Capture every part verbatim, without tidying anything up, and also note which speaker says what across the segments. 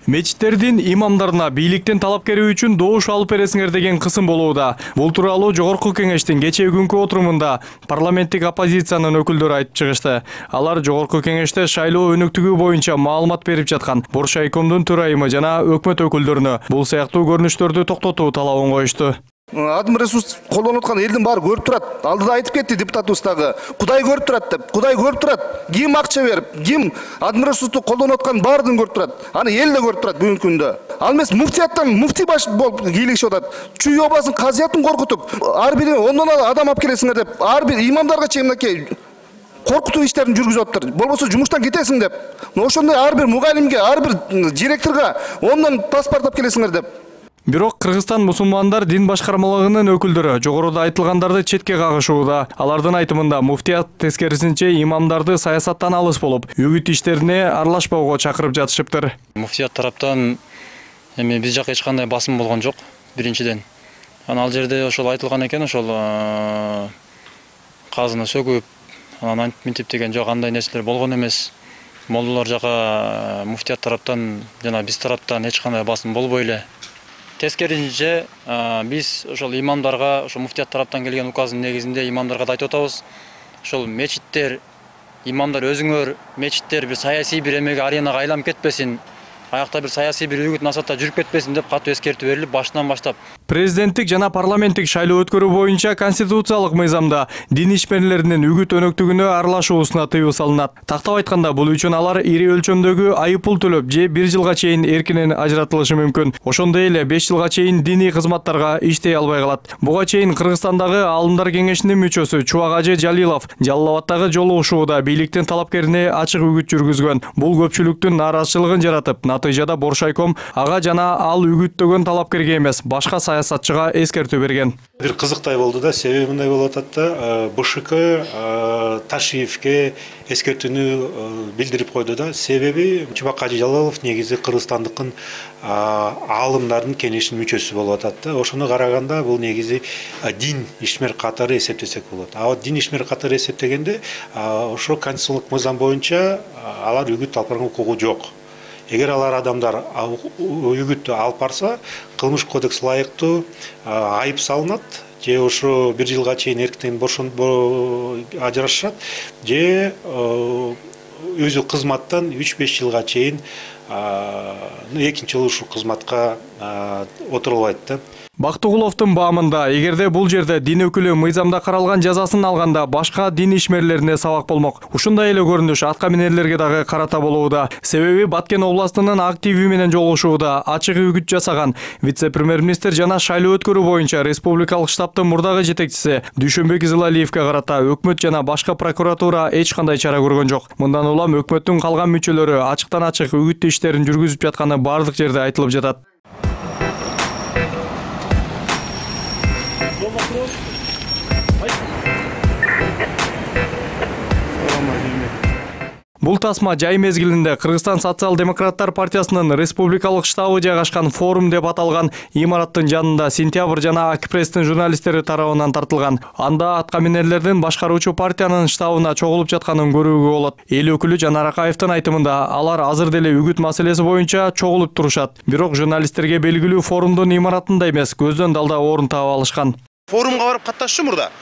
Speaker 1: Мечиттердин имамдарына бийликтин талапкери үчүн добуш алып бересиңер деген кысым болууда. Бул тууралуу Жогорку Кеңештин кечээ күnkү отурумунда парламенттик оппозициянын өкүлдөрү айтып чыгышты. Алар Жогорку Кеңеште шайлоо өнүктүгү боюнча маалымат берип жаткан Боршайкомдун төрайымы жана өкмөт өкүлдөрүнө бул сыяктуу көрүнүштөрдү токтотуу талабын коюшту.
Speaker 2: Адым ресурс колдонуп аткан элдин баары көрүп турат. Алдыда айтып кетти депутатыбыз дагы. Кудай көрүп турат деп. Кудай көрүп турат. Ким акча берип, ким адым ресурсту колдонуп аткан баардыгын көрүп турат. Аны эл да көрүп турат бүгүнкү күндө. Ал эмес муфтияттан муфти баш болуп кийлигишип атат. Чүй обасын казыятын коркутуп, ар бири ондон адам алып келесиңер деп, ар бир имамдарга чейин мынакей коркутуу иштерин жүргүзүп атыптыр. Болбосо жумуштан кетесиң деп. Ошондой ар бир мугалимге, ар бир директорго ондон паспорт алып келесиңер деп.
Speaker 1: Бирок Кыргызстан мусулмандар дин башкармалыгынын өкүлдөрү жогоруда айтылгандарды четке кагышууда. Алардын айтымында муфтият тескерисинче имамдарды саясаттан алыс болуп, үгүт иштерине аралашпоого чакырып жатышыптыр.
Speaker 3: Муфтият тараптан эми биз жака эч кандай басым болгон жок, биринчиден. Анан ал жерде ошол айтылган экен, ошол казыны сөгүп, анан антип мынтип деген жок, андай нерселер болгон эмес. Молдолор жака муфтият тараптан жана биз тараптан эч кандай басым болбой эле. Тескерисинче биз ошол имамдарга, ошол муфтият тараптан келген указдын негизинде имамдарга да айтып атабыз. Ошол мечиттер, имамдар өзүңөр мечиттер бир саясий бир эмеге аренага айланып кетпесин, аякта бир саясий бир үгүт насаатта жүрүп кетпесин деп катуу эскертүү берилип, башынан баштап.
Speaker 1: Президенттик жана парламенттик шайлоо өткөрүү боюнча конституциялык мыйзамда дин ишмерлеринин үгүт өнөктүгүнө аралашуусуна тыюу салынат. Тактап айтканда, бул үчүн алар ири өлчөмдөгү айыппул төлөп же бир жылга чейин эркинен ажыратылышы мүмкүн. Ошондой эле беш жылга чейин диний кызматтарга иштей албай калат. Буга чейин Кыргызстандагы Аалымдар кеңешинин мүчөсү Чубак Ажы Жалилов Жалал Абадтагы жолугушууда бийликтин талапкерине ачык үгүт жүргүзгөн. Бул көпчүлүктүн нааразычылыгын жаратып, натыйжада Боршайком ага жана ал үгүттөгөн талапкерге эмес, башка саясатчыга эскертүү берген.
Speaker 4: Бир кызыктай болду да, себеби мындай болуп атат да, БШК Ташиевке эскертүүнү билдирип койду да. Себеби Чубак Ажы Жалалов негизи Кыргызстандыкын аалымдардын кеңешинин мүчөсү болуп атат да. Ошону караганда бул негизи дин ишмер катары эсептесек болот. А дин ишмер катары эсептегенде ошо конституциялык мыйзам боюнча алар үгүт алып барганга укугу жок. Эгер алар адамдар үгүттү алып барса, кылмыш кодекс ылайыктуу айып салынат, же ошо бир жылга чейин эркинен бошонуп ажырашат, же өзү кызматтан үч беш жылга чейин экинчи жолу ушул кызматка отурулбайт да.
Speaker 1: Бактыгуловдун баамында, эгерде бул жерде дин өкүлү мыйзамда каралган жазасын алганда башка дин ишмерлерине сабак болмок. Ушундай эле көрүнүш атка минерлерге дагы карата болууда. Себеби Баткен областынын активи менен жолугушууда ачык үгүт жасаган вице-премьер-министр жана шайлоо өткөрүү боюнча республикалык штабтын мурдагы жетекчиси Дүйшөнбек Изылалиевке карата өкмөт жана башка прокуратура эч кандай чара көргөн жок. Мындан улам өкмөттүн калган мүчөлөрү ачыктан ачык үгүт иштерин жүргүзүп жатканы бардык жерде айтылып жатат. Бул тасма жай мезгилинде Кыргызстан социал-демократтар партиясынын республикалык штабы жайгашкан форум деп аталган имараттын жанында Сентябрь жана Акпресстин журналисттери тарабынан тартылган. Анда атка минерлердин башкаруучу партиянын штабына чогулуп жатканын көрүүгө болот. Эл өкүлү Жанар Акаевдин айтымында, алар азыр деле үгүт маселеси боюнча чогулуп турушат. Бирок журналисттерге белгилүү форумдун имаратында эмес, көздөн далда орун таап алышкан.
Speaker 5: Форумга барып катташтым мурда.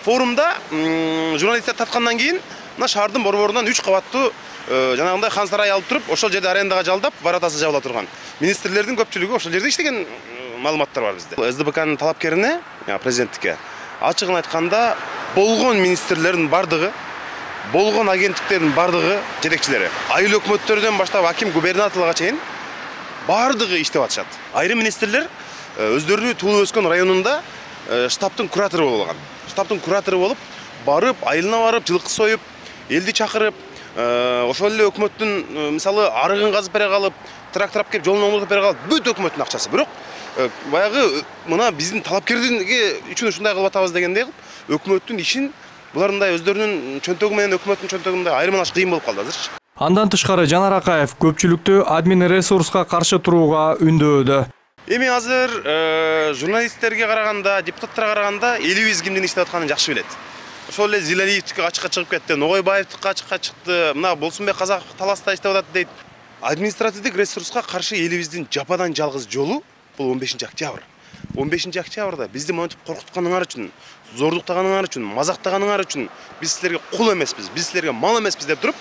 Speaker 5: Форумда журналисттер тарткандан кийин мына шаардын борборунан үч кабаттуу жанагындай хан сарай алып туруп, ошол жерде арендага жалдап, воротасы жабыла турган. Министрлердин көпчүлүгү ошол жерде иштеген маалыматтар бар бизде. СДБКнын талапкерине, президенттикке ачыгын айтканда, болгон министрлердин бардыгы, болгон агенттиктердин бардыгы жетекчилери, айыл өкмөттөрдөн баштап аким губернаторлорго чейин бардыгы иштеп атышат. Айрым министрлер өздөрүнүн туулуп өскөн районунда штабтын куратору болуп алган. Штабтын куратору болуп, барып, айылына барып, жылкы союп, элди чакырып, ошол эле өкмөттүн мисалы арыгын казып бере калып, трактор алып келип жолун оңдоп бере калып, бүт өкмөттүн акчасы. Бирок баягы мына биздин талапкердинге үчүн ушундай кылып атабыз дегендей кылып, өкмөттүн ишин буларындай өздөрүнүн чөнтөгү менен өкмөттүн чөнтөгүндай айырмалаш кыйын болуп калды азырчы.
Speaker 1: Андан тышкары Жанар Акаев көпчүлүктү админ ресурска каршы турууга үндөөдө.
Speaker 5: Эми азыр журналисттерге караганда, депутаттарга караганда элибиз кимдин иштеп атканын жакшы билет. Ошол эле Зилалиевдики ачыкка чыгып кетти, Ногойбаевдики ачыкка чыкты, мына Болсунбек Казак таласта иштеп атат дейт. административдик ресурска каршы элибиздин жападан жалгыз жолу бул он бешинчи октябрь. он бешинчи октябрда бизди монтип коркутканыңар үчүн, зордуктаганыңар үчүн, мазактаганыңар үчүн биз силерге кул эмеспиз, биз силерге мал эмеспиз деп туруп,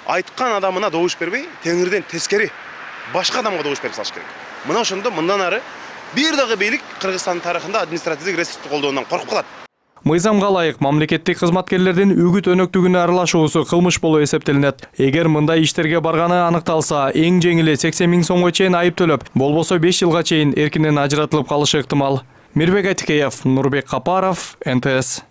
Speaker 5: айткан адамына добуш бербей, теңирден тескери башка адамга добуш берип салыш керек. Мына ошондо мындан ары бир дагы бийлик Кыргызстандын тарыхында административдик ресурсту колдоодон коркуп калат.
Speaker 1: Мыйзамга ылайык мамлекеттик кызматкерлердин үгүт өнөктүгүнө аралашуусу кылмыш болуп эсептелинет. Эгер мындай иштерге барганы аныкталса, эң жеңили сексен миң сомго чейин айып төлөп, болбосо беш жылга чейин эркинен ажыратылып калышы ыктымал. Мирбек Айтикеев, Нурбек Капаров, эн тэ эс.